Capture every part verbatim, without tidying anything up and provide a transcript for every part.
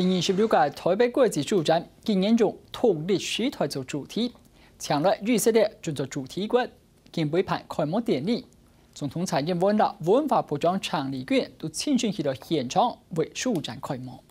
第二十六屆台北國際書展今年用獨立時代做主題，請來以色列準做主題國，今晡日辦開幕典禮。總統蔡英文摎文化部長陳麗君都親身去到現場為書展開幕。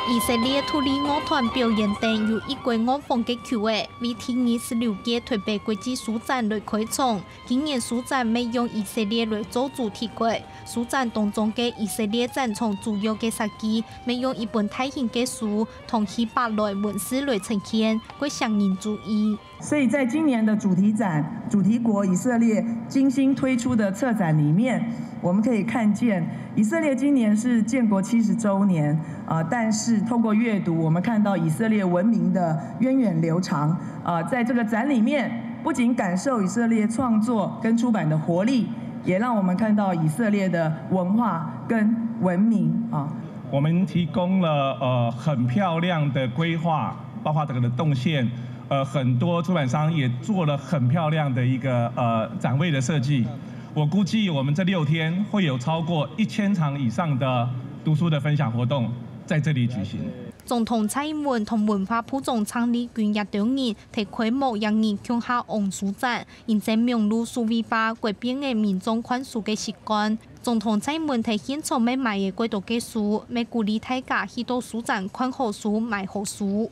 以色列獨立樂團表演等有異國暗訪个曲仔，為第二十六屆台北國際書展來開場。今年書展乜用以色列來做主題國，書展當中个以色列展場主要个設計，乜用一本大型个書，同希伯來文字來呈現，蓋吸引人注意。 所以在今年的主题展，主题国以色列精心推出的策展里面，我们可以看见以色列今年是建国七十周年，呃，但是透过阅读，我们看到以色列文明的源远流长。呃，在这个展里面，不仅感受以色列创作跟出版的活力，也让我们看到以色列的文化跟文明啊。我们提供了呃很漂亮的规划，包括这个的动线，呃，很多出版商也做了很漂亮的一个呃展位的设计。我估计我们这六天会有超过一千场以上的读书的分享活动在这里举行。总统蔡英文同文化部长陈麗君也等人在開幕當日共下望書展，因為網路數位化改變了民眾看書个習慣。總統蔡英文在現場乜買了蓋多个書，乜鼓勵大家去到書展看好書、買好書。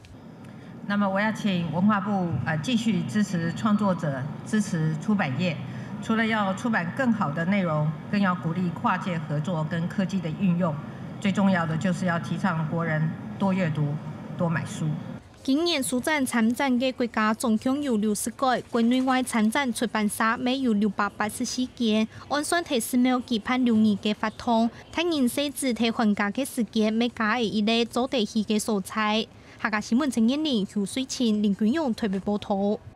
那么我要请文化部呃继续支持创作者，支持出版业。除了要出版更好的内容，更要鼓励跨界合作跟科技的运用。最重要的就是要提倡国人多阅读、多买书。今年書展參展个國家總共有六十個，國內外參展出版社乜有六百八十四間，按算在寺廟舉辦六日个活動，大人細子在寒假个時間乜加了一個做得去个所在。 客家新聞陳彥霖、邱水清、林君勇特別報導。